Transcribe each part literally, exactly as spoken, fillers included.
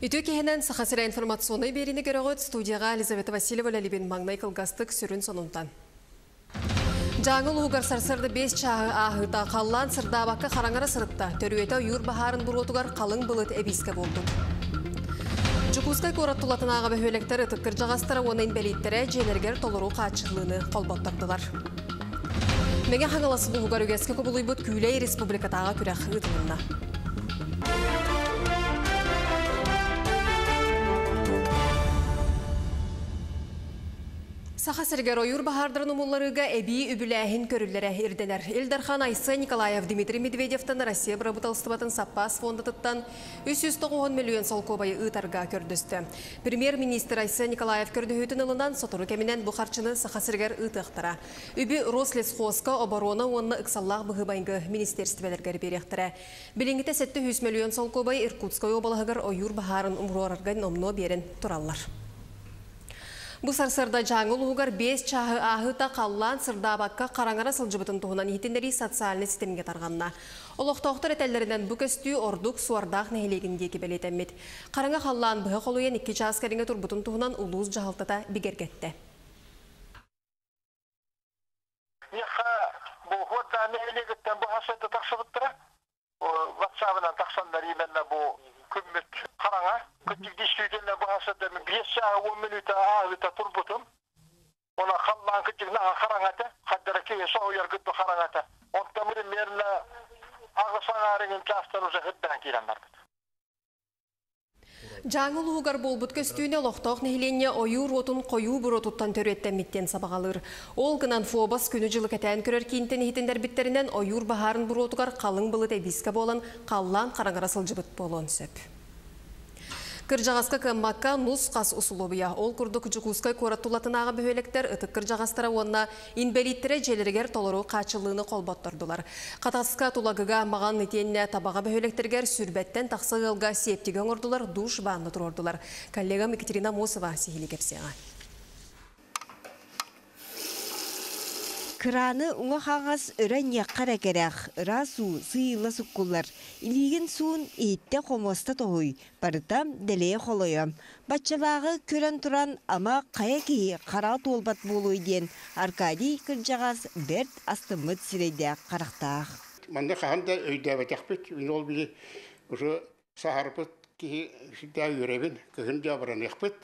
Үтүө киһинэн Саха сирэ информационнай биэриини көрөҕүт. Студияҕа Елизавета Васильева үлэлиибин. Маҥнай кылгастык сүрүн сонунтан. Дьааҥы улууһугар сарсыарда биэс чааһы ааһыыта халлаан сырдаабакка хараҥара сырытта. Төрүөтэ ойуур баһаарын буруотугар халыҥ былыт эбиискэ буолбут. Дьокуускай куорат тулатынааҕы бөһүөлэктэр ытык кырдьаҕастара уонна инбэлииттэрэ дьиэлэригэр толору хааччыллыыны холботтордулар. Мэҥэ Хаҥалас улууһугар үгэскэ кубулуйбут Күүлэй республикатааҕы күрэх ыытылынна. Саха сиригэр ойуур баһаардарын умулларыыга эбии үбүлээһин көрүллэрэ ирдэнэр. Ил Дархан Айсен Николаев Дмитрий Медведевтан Россия бырабыыталыстыбатын саппаас фондатыттан үс сүүс тоҕус уон мөлүйүөн солкуобайы ыытарга көрдөстө. Премьер-министр Айсен Николаев көрдөһүүтүн ылынан сотору кэминэн бу харчыны Саха сиригэр ыытыахтара. Үбү Рослесхозка, оборона уонна ыксаллаах быһыы-майгы министиэристибэлэригэр биэриэхтэрэ. Билиҥҥитэ сэттэ сүүс мөлүйүөн солкуобай Иркутскай уобалаһыгар ойуур баһаарын умуруорарга номнуо биэрэн тураллар. Бу сарсыарда Дьааҥы улууһугар биэс чааһы ааһыыта халлаан сырдаабакка хараҥара сылдьыбытын туһунан иһитиннэрии социальнай ситимҥэ тарҕанна. Олохтоохтор этэллэринэн бу көстүү ордук Суордаах нэһилиэгин диэки бэлиэтэммит. Хараҥа халлаан быһа холуйан икки чаас кэриҥэ турбутун туһунан улуус дьаһалтата бигэргэттэ. Миэхэ бу Суордаах нэһилиэгиттэн бу хасыта тахсыбыттара. WhatsApp-ынан тахсаннар именно бу күммүт хараҥа. Күттүк действительно бу хасыта биэс чааһы уон мүнүүтэ ааһыыта турбутум. Она халлаан күттүк наһаа хараҥата, хаддара киһи соһуйар гытты хараҥата. Онтон примерно аҕыс аҥаарыгын чаастан уже хыттан киирэн барбыт. Дьааҥы улууһугар буолбут көстүүнү олохтоох нэһилиэнньэ ойуур уотун хойуу буруотуттан төрүөттэммиттэн сабаҕалыыр. Ол гынан ФОБОС күнү-дьылы кэтээн көрөр киинтэн иһитиннэрбиттэринэн ойуур баһаарын буруотугар халыҥ былыт эбиискэ буолан халлаан хараҥара сылдьыбыт буолуон сөп. Кырдьаҕаска кыаммакка нус-хас усулуобуйа. Ол курдук Дьокуускай куорат тулатынааҕы бөһүөлэктэр ытык кырдьаҕастара уонна инбэлииттэрэ дьиэлэригэр толору хааччыллыыны холботтордулар. Хатаска, Тулагыга, Маҕан итиэннэ Табаҕа бөһүөлэктэригэр сүүрбэттэн тахса ыалга сиэптиги оҥордулар, душ баанна туруордулар. Коллегам Екатерина Амосова сиһилии кэпсиэҕэ. Кырааны уҥа хаҥас өрө ньиэххэ кэрэх, ыраас уу сыыйыла суккуллар. Илиигин суун иһиттэ хомуоста тоһуй, барыта дэлэйэ холойо. Баччалааҕы көрөн туран ама хайа киһи хараҕа туолбат буолуой диэн Аркадий кырдьаҕас бэрт астыммыт сирэйдээх харахтаах. Манна хаһан да өйдөөбөтөхпүт, ол били уже саһарбыт киһи всегда үөрэбин, кыһын дьаабыраныахпыт.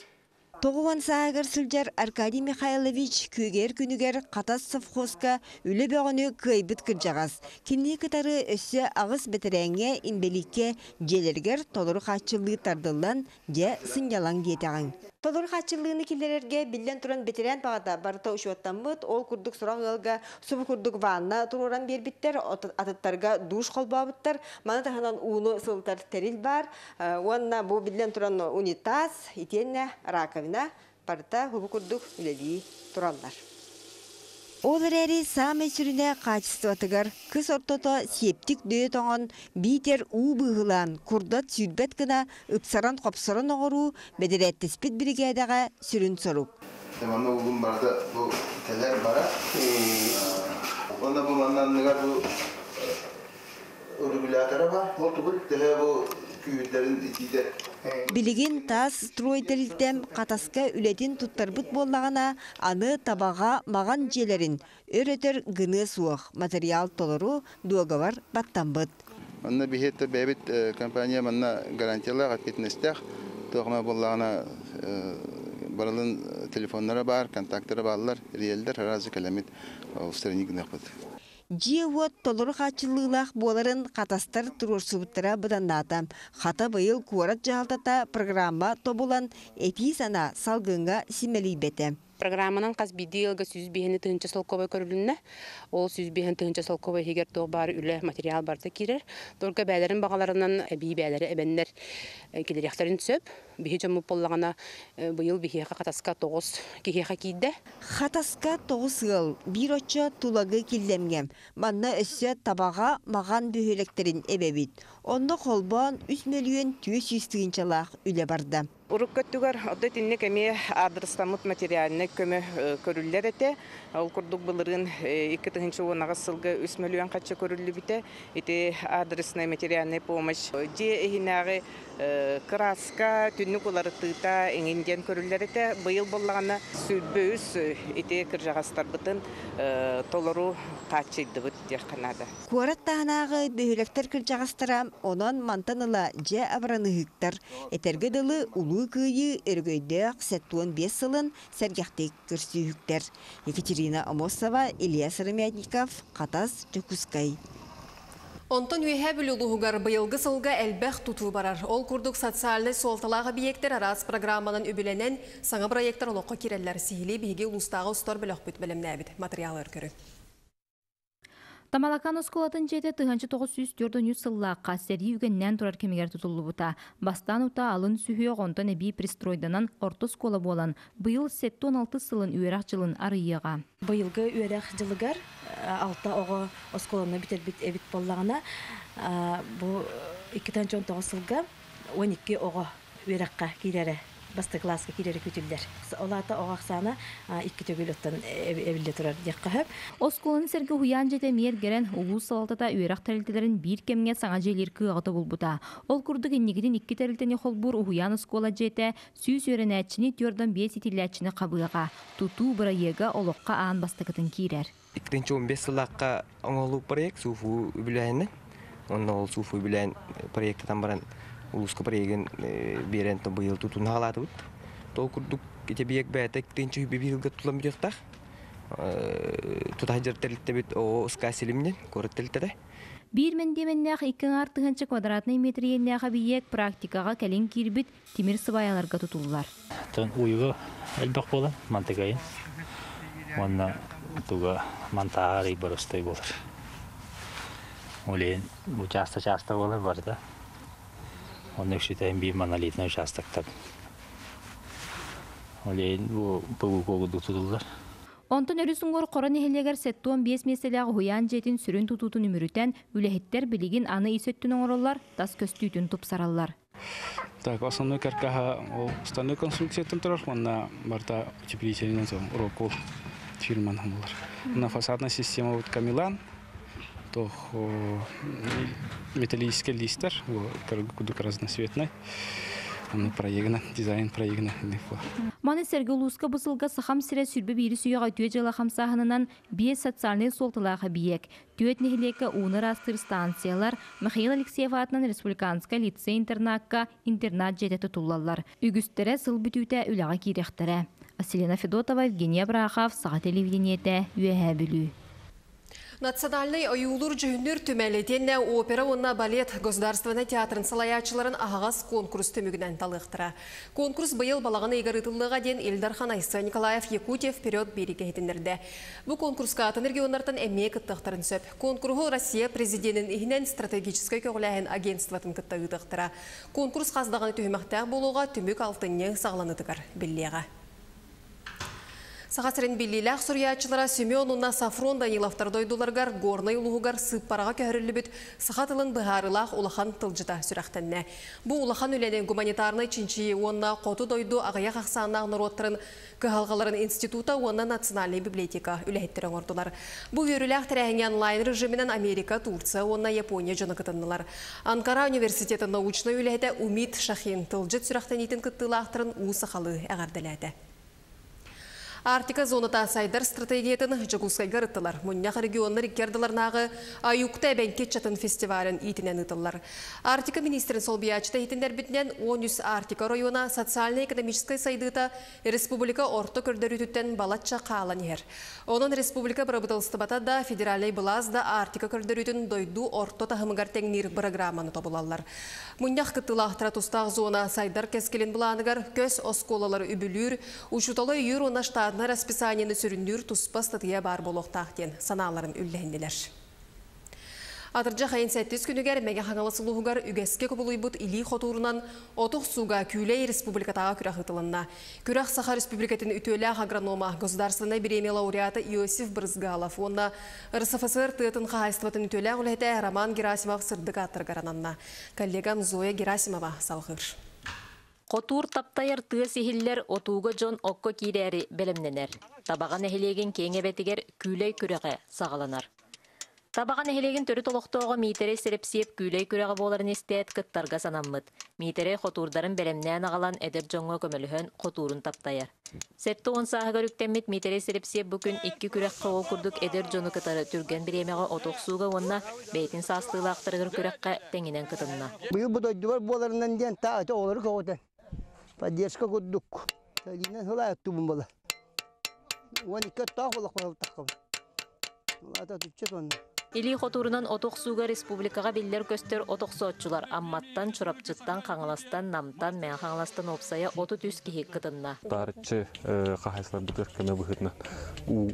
Тоҕуон сааһыгар сылдьар Аркадий Михайлович күөгэр күнүгэр Хатас совхозка үлэ бөҕөнү кыайбыт кырдьаҕас. Кинини кытары өссө аҕыс бэтэрээҥҥэ инбэлииккэ дьиэлэригэр толору хааччыллыы тардыллан дьэ сынньалаҥ диэтэҕиҥ. Толору хааччыллыыны киллэрэргэ биллэн туран бэтэрээн баҕата барыта учуоттаммыт, ол курдук сорох ыалга субу курдук ванна туруоран биэрбиттэр, атыттарга душ холбообуттар, маны таһынан ууну сылытар тэрил бар, уонна бу биллэн туран унитаз, итиэннэ раковина барыта хубу курдук үлэлии тураллар. Ол эрээри саамай сүрүнэ хаачыстыбатыгар кыс ортото септик дөйө тоҥон биитэр уу быыһылаан курдат сүүрбэт гына ыпсаран хопсорон оҕоруу бэдэрээттиспит биригээдэҕэ сүрүн сорук. Манна угун барыта бу кэлэр бара. Онно бу маннанныгар бу регулятора бар. Ол тугул төһө бу күүрдэрин итиитэ. Билигин таас строй тэрилтэм Хатаска үлэтин туттарбыт буоллаҕына, аны Табаҕа Маҕан дьиэлэрин өр-өтөр гыныа суох материал толору дуогабар баттаммыт. Манна биһиэттэ бэйэбит компания манна гарантиялаах ответственностях туохма буоллаҕына барылын телефоннара бар, контакттара бааллар, риэлдер разы кэлэмит устранить гыныахпыт. Дьиэ-уот толору хааччыллыылаах буоларын Хатастар туруорсубуттара быданнаата. Хата быйыл куорат дьаһалтата программа тобулан этии сана салгыҥҥа симэлийбэтэ. Программанан хас биирдии ыалга сүүс биэһини тыһыынча солкуобай көрүлүннэ. Ол сүүс биэһин тыһыынча солкуобай иһигэр туох баар үлэ материал барыта киирэр. Только бээлэрин баҕаларынан эбии бээлэри эбэннэр килириэхтэрин сөп. Биһи дьоммут буоллаҕына быйыл биһиэхэ Хатаска тоҕус киһиэхэ киирдэ. Хатаска тоҕус ыал, биир оччо тулагы киллэмҥэ. Манна өссө Табаҕа Маҕан бөһүөлэктэрин эбэбит. Онно холбоон үс мөлүйүөн түөрт сүүс тыһыынчалаах үлэ барда. Урукку өттүгэр оттон итинник эмиэ аадырыстаммыт материальнай көмө көрүллэр этэ. Ол курдук былырыын икки тыһыынча уон аҕыс сылга үс мөлүйүөн харчы көрүллүбүтэ. Ити адресная материальная помощь дьиэ иһинээҕи кырааска, түннүк уларытыыта эҥин диэн көрүллэр этэ. Быйыл буоллаҕына сүүрбэ үс ити кырдьаҕастарбытын толору хааччыйдыбыт диэххэ наада. Куорат таһынааҕы бөһүөлэктэр кырдьаҕастара онон мантан ыла дьэ абыраныһыктар. Этэргэ дылы Улуу Кыайыы өрөгөйдөөх сэттэ уон биэс сылын сэргэхтик көрсүүһүктэр. Екатерина Амосова, Илья Сыромятников, Хатас, Дьокуускай. Онтон Үөһээ Бүлүү улууһугар быйылгы сылга элбэх тутуу барар. Ол курдук социальнай суолталаах объектар араас программанан үбүлэнэн саҥа проектар олоххо киирэллэр. Сиһилии биһиги улуустааҕы устар бөлөхпүт бэлэмнээбит матырыйаалыгар көрүҥ. Тамалакаан оскуолатын дьиэтэ тыһыынча тоҕус сүүс түөрт уон үс сыллаахха сэрии үгэннээн турар кэмигэр тутуллубута. Бастаан утаа алын сүһүөх, онтон эбии пристройданан орто оскуола буолан, быйыл сэттэ уон алтыс сылын үөрэх дьылын арыйыаҕа. Быйылгы үөрэх дьылыгар алта оҕо оскуоланы бүтэрбит эбит буоллаҕына, бу икки тыһыынча он тоҕус сылга уон икки оҕо үөрэххэ киирэрэ, бастакы кылааска киирэрэ күүтүллэр. Ол аата оҕо ахсаана икки төгүл оттон эбиллэ турар диэххэ сөп. Оскуоланы сэргэ уһуйаан дьиэтэ эмиэ эргэрэн, улуус салалтата үөрэх тэрилтэлэрин биир кэмҥэ саҥа дьиэлиир кыаҕы тобулбута. Ол курдук инникитин икки тэрилтэни холбуур уһуйаан оскуола дьиэтэ сүүс үөрэнээччини түөрт уон биэс иитиллээччини хабыаҕа. Тутуу бырайыага олоххо аан бастакытын киирэр. Иккитинчи он бес сыллаахха оҥоһуллубут проект СУФУ үбүлээһинэ. Онно ол СУФУ үбүлээн проектытан баран улууска проегын биэрэн быйыл тутун хаалаатыбыт. Тол курдук ити биэк бэйэтэ иккитинчи үбү биһилгэ тутулан бүтүөхтээх. Тутаһдьар тэрилтэбит о СК Силимнен куорат тэрилтэтэ. Биир мэндиэмэннээх икки аҥаар тыһыынча квадратнай метр иэннээх объект практикаҕа кэлин киирбит тимир сыбаайаларга тутуллар. Тон уйуга элбэх буолан мантыгайын. Уонна туга мантааҕар боростой буолар. Олен участок часто буолар барда. Онно үксүтэ биир монолитный участоктар. Олен бу П В К тутуллар. Онтон өрүс уҥуор Хоро нэһилиэгэр сэттэ уон биэс миэстэлээх уһуйаан дьиэтин сүрүн тутуутун үмүрүтэн үлэһиттэр билигин аны ис өттүн оҥороллор, тас көстүүтүн тупсараллар. Так, основной каркаһа ол стальной конструкциятын турар, онна барта утеплительный Рокволл фирманан буолар. На фасадная система вот Камилан, то металлический листер, кудук разноцветный. Проегына, дизайн проегына. Маны сэргэ улууска бу сылга Сахам сирэ сүүрбэ биирис үйэҕэ үтүө дьыала хамсааһынынан биэс социальнай суолталаах объект. Түөрт нэһилиэккэ ууну ыраастыыр станциялар, Михаил Алексеев аатынан республиканскай лицей-интернакка интернат дьиэтэ тутуллаллар. Үгүстэрэ сыл бүтүүтэ үлэҕэ киириэхтэрэ. Василина Федотова, Евгения Брахов, Саха телевидениетэ, Үөһээ Бүлүү. Национальнай ойуулуур-дьүһүннүүр түмэл итиэннэ опера уонна балет государственнай театрын салайааччыларын аһаҕас конкурс түмүгүнэн талыахтара. Конкурс быйыл балаҕан ыйыгар ыытыллыаҕа диэн Ил Дархан Айсен Николаев Якутия вперед биэриигэ иһитиннэрдэ. Бу конкурска атын регионнартан эмиэ кыттыахтарын сөп. Конкурһу Россия президенин иһинэн стратегическай көҕүлээһин агентствотын кытта ыытыахтара. Конкурс хас даҕаны түһүмэхтээх буолуоҕа, түмүк алтынньы саҕаланыытыгар биллиэҕэ. Саха сирин биллиилээх суруйааччылара Семен уонна Софрон Даниловтар дойдуларыгар Горнай улууһугар сыыппараҕа көһөрүллүбүт саха тылын быһаарыылаах улахан тылдьыта сүрэхтэннэ. Бу улахан үлэни гуманитарнай чинчийии уонна хоту дойду аҕыйах ахсааннаах норуоттарын кыһалҕаларын института уонна национальнай библиотека үлэһиттэрэ оҥордулар. Бу үөрүүлээх тэрээһиҥҥэ онлайн режиминэн Америка, Турция уонна Япония дьоно кытыннылар. Анкара университетын научнай үлэһитэ Умит Шахин тылдьыт сүрэхтэниитин кыттыылаахтарын уу сахалыы эҕэрдэлээтэ. Арктика зоната сайдар стратегиятын Дьокуускайга ырыттылар. Мунньах регионнар икки ардыларынааҕы Аюкта эбэҥки ыччатын фестивалын иитинэн ыытыллар. Арктика министрин солбуйааччыта иһитиннэрбитинэн он үс Арктика оройуона социальнай-экономическай сайдыыта республика орто көрдөрүүтүттэн балачча хаалан иһэр. Онон республика бырабыыталыстыбата да, федеральнай былаас да Арктика көрдөрүүтүн дойду орто таһымыгар тэҥниир бырагырааманы тобулаллар. Мунньах кыттыылаахтара тустаах зона сайдар кэскилин былааныгар көс оскуолалары үбүлүүр, учууталы өйүүр уонна штатнай расписаниены сүрүннүүр туспа ыстатыйа баар буолуохтаах диэн санааларын үллэһиннилэр. Атырдьах ыйын сэттис күнүгэр Мэҥэ Хаҥалас улууһугар үгэскэ кубулуйбут илии хотуурунан оту охсууга Күүлэй республикатааҕы күрэх ыытылынна. Күрэх Саха Республикатын үтүөлээх агронома, государственнай бириэмийэ лауреата Иосиф Брызгалов уонна Р С Ф С Р тыатын хаһаайыстыбатын үтүөлээх үлэһитэ Роман Герасимов сырдык ааттарыгар ананна. Коллегам Зоя Герасимова салҕыыр. Хотуур таптайар тыас иһиллэр, отууга дьон окко киирээри бэлэмнэнэр. Табаҕа нэһилиэгин киэҥ эбэтигэр күүлэй күрэҕэ саҕаланар. Табаҕа нэһилиэгин төрүт олохтооҕо Миитэрэй Сэрэпсиэп күүлэй күрэҕэ буоларын истээт кыттарга санаммыт. Миитэрэй хотуурдарын бэлэмнээн аҕалан эдэр дьоҥҥо көмөлөһөн хотуурун таптайар. Сэттэ уон сааһыгар үктэммит Миитэрэй Сэрэпсиэп бу күн икки күрэххэ ол курдук эдэр дьону кытары түргэн бириэмэҕэ от охсууга уонна бэйэтин саастыылаахтарыгар күрэххэ тэҥинэн кытынна. Быйыл бу дойдубар буоларынан диэн таа оҕолору көҕүтэн поддержка курдук сэлиинэн сылай оттубун буола. Уон икки оттоох буолах буолтаххабын. Улаата түччэ тонна. Илии хотуурунан от охсууга республикаҕа биллэр-көстөр от охсооччулар Амматтан, Чурапчыттан, Хаҥаластан, Намтан, Мэҥэ Хаҥаластан уопсайа отут үс киһи кытынна. Таарыччы хаһайсыларбытыгар көмө быһыытынан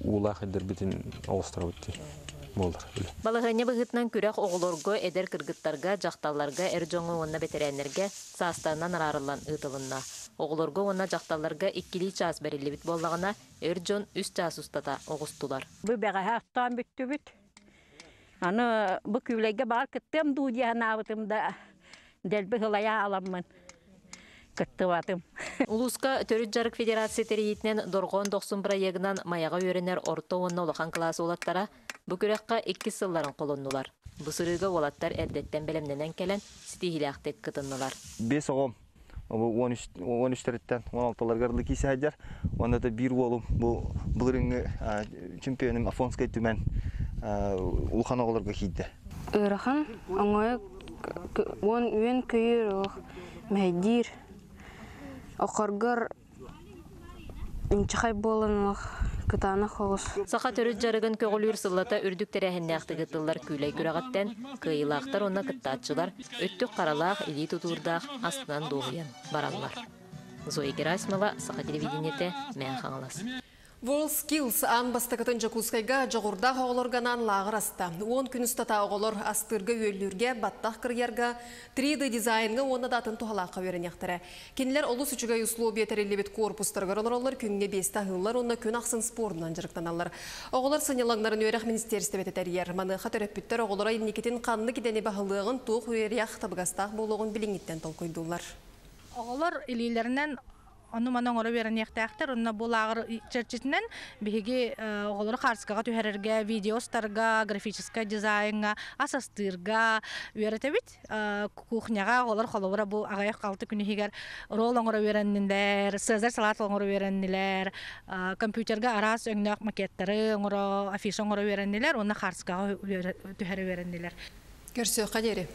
уулаах ирдэрбитин оҕустарабыт дии буолар. Балаһыанньа быһыытынан күрэх оҕолорго, эдэр кыргыттарга, дьахталларга, эр дьоҥҥо уонна бэтэрээннэргэ саастарынан араарыллан ыытылынна. Оҕолорго уонна дьахталларга иккилии чаас бэриллибит буоллаҕына, эр дьон үс чаас устата оҕустулар. Бу бэҕэһээ оттоон бүттүбүт. Аны бу күүлэйгэ баар кыттыам дуу диэн аабытым да дэлби хылайа аламмын кыттыбатым. Улууска төрүт дьарык федерация тэрийиитинэн Дорҕоон Дохсун бырайыагынан Майаҕа үөрэнэр орто уонна улахан кылаас уолаттара бу күрэххэ иккис сылларын холоннулар. Бу сырыыга уолаттар эрдэттэн бэлэмнэнэн кэлэн ситиһиилээхтик кытыннылар. Биэс оҕом он үстэриттэн он алталарыгар дылы киирсэ сылдьар. Уонна да биир уолум бу былырыыҥҥы чемпионум Афонскай Түмэн улахан оҕолорго киирдэ. Ыарахан, оҥойо уон үөн көйөр олох мэһэйдиир. Окоргор инчэхэй буолан олох кытаанах оҕус. Саха төрүт дьарыгын көҕүлүүр сыллата үрдүк тэрээһиннээхтик ыытыллар күүлэй күрэҕиттэн кыайыылаахтар уонна кыттааччылар өттүк харалаах, илии тутуурдаах астынан дуоһуйан бараллар. Зоя Герасимова, Саха телевидениетэ, Мэҥэ Хаҥалас. WorldSkills аан бастакытын Дьокуускайга дьоҕурдаах оҕолорго анаан лааҕыр аста. Уон күн устата оҕолор астыырга үөллүүргэ, баттах кырыйарга, три D дизайнга уонна да атын туһалаахха үөрэниэхтэрэ. Кинилэр олус үчүгэй условия тэриллибит корпустарыгар олороллор, күҥҥэ биэстэ аһыыллар уонна күн ахсын спордунан дьарыктаналлар. Оҕолор сынньалаҥнарын үөрэх министиэристибэтэ тэрийэр. Маныаха төрөппүттэр оҕолоро инникитин ханнык идэни баһылыаҕын, туох үөрэх табыгастаах буолуоҕун билиҥҥиттэн толкуйдууллар. Оҕолор илиилэринэн ону маны оҥоро үөрэниэхтээхтэр, онно бу лааҕыр чэрчитинэн биһиги оҕолору хаартыскаҕа түһэрэргэ, видеостарга, графическай дизайнҥа, ас астыырга үөрэтэбит. Кухняҕа оҕолор холобура бу аҕыйах алты күн иһигэр ролл оҥоро үөрэннилэр, цезарь салат оҥоро үөрэннилэр, компьютерга араас өҥнөөх макеттары оҥоро, афиша оҥоро үөрэннилэр, уонна хаартыскаҕа түһэрэ үөрэннилэр. Көрсүөххэ диэри.